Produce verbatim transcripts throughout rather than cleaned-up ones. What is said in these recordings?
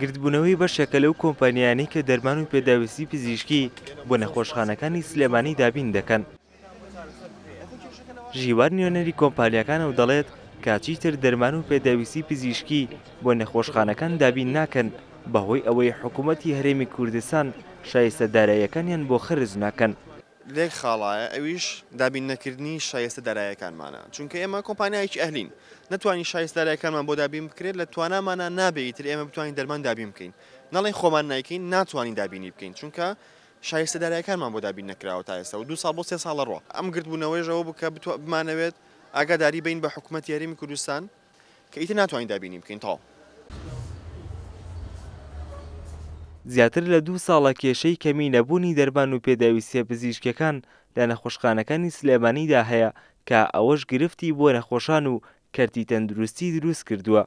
گردبوونەوەی بەشێکە لەو کۆمپانیانەی کە دەرمان و پێداویستی پزیشکی بۆ نەخۆشخانەکانی سلێمانی دابین دەکەن. ژیوار نوێنەری کۆمپانیاکانە و دەڵێت کە چیتر دەرمان و پێداویستی پزیشکی بۆ نەخۆشخانەکان دابین ناکەن بەهۆی ئەوەی حکوومەتی هەرێمی کوردستان شایستە داراییەکانیان بۆ خەرج ناکەن. لێک خاڵایە ئەویش دابین نەکردنی شایستە داراییەکانمانە، چونکە ئێمە کۆمپانیایەکی ئەهلین، نەتوانین شایستە داراییەکانمان بۆ دابین بکرێت، لە توانامانە نابێ ئیتر ئێمە بتوانین دەرمان دابین بکەین. نەڵێن خۆمان نایکەین، ناتوانین دابینی بکەین، چونکە شایستە داراییەکانمان بۆ دابین نەکراوە تا ئێستا و دوو ساڵ بۆ سێ ساڵە ڕۆ. ئەم گردبوونەوەیش ئەوە بوو کە بمانەوێت ئاگاداری بین بە حکوومەتی هەرێمی کوردستان کە ئیتر ناتوانین دابینی بکەین. تاو زیاتر لە دوو ساڵە کێشەی کەمی نەبوونی دەرمان و پێداویستیە پزیشکیەکان لە نەخۆشخانەکانی سلێمانیدا هەیە کە ئەوەش گرفتی بۆ نەخۆشان و کەرتی تەندروستی دروست کردووە.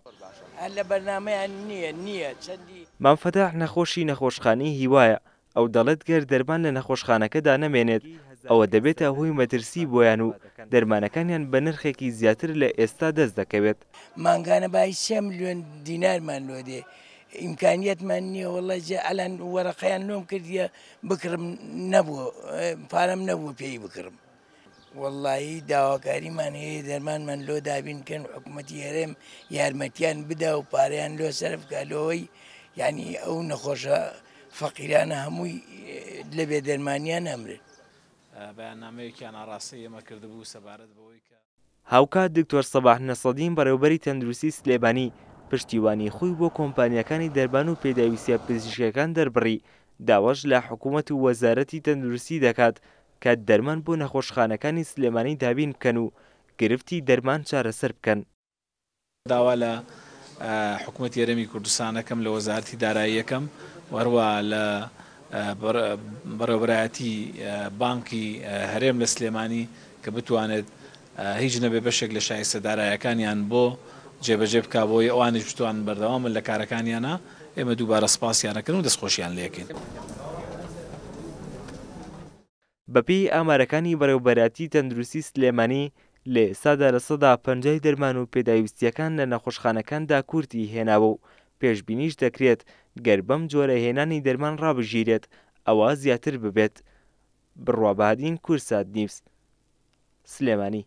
مام فەتاح نەخۆشی نەخۆشخانەی هیوایە، ئەو دەڵێت گەر دەرمان لە نەخۆشخانەکەدا نەمێنێت ئەوە دەبێتە هۆی مەترسی بۆیان و دەرمانەکانیان بە نرخێکی زیاتر لە ئێستا دەست دەکەوێت. مانگانە بای سێ ملیۆن دینارمان لۆ دێ، ئیمکانیەتمان نییە. وەڵڵا جێ ئەلان وەرەقەیان لۆم کردیە بکڕم نەبوو، پارەم نەبوو پێی بکڕم. وەڵڵاهی داواکاریمان هەیە دەرمانمان لۆ دابین بکەن، حکوومەتی هەرێم یارمەتیان بدا و پارەیان لۆ سەرف بکە لۆی یعنی ئەو نەخۆشە فەقیرانە هەمووی لە بێدەرمانیان ئەمرن. بەیاننامەیەکیان ئاراستەی ئێمە کردبوو سەبارەت بەوەی کە هاوکات دکتۆر سەباح نەسەدین بەڕێوەبەری تەندروستی سلێمانی پشتیوانی خۆی بۆ کۆمپانیاکانی دەرمان و پێداویستیە پزیشکیەکان دەربڕی، داواش لە حکوومەت و وەزارەتی تەندروستی دەکات کە دەرمان بۆ نەخۆشخانەکانی سلێمانی دابین بکەن و گرفتی دەرمان چارەسەر بکەن. داوا لە حکوومەتی هەرێمی کوردستانەکەم، لە وەزارەتی داراییەکەم و هەروە لە بەڕێوەبەرایەتی بانکی هەرێم لە سلێمانی کە بتوانێت هیچ نەبێ بەشێک لە شایستە دارایەکانیان بۆ جێبەجێ بکا بۆی ئەوانیش بتوانن بەردەوامن لە کارەکانیانە. ئێمە دووبارە سپاسیانەکەن و دەستخۆشیان لێکەین. بەپێی ئامارەکانی بەڕێوەبەرایەتی تەندروستی سلێمانی لە ئێستادا لە سەدا پەنجای دەرمان و پێداویستیەکان لە نەخۆشخانەکاندا کورتی هێناوە و پێشبینیش دەکرێت گەر بەم جۆرە هێنانی دەرمان ڕابژیرێت ئەوە زیاتر ببێت. بڕوا بەهادین، کوردسات نیوز، سلێمانی.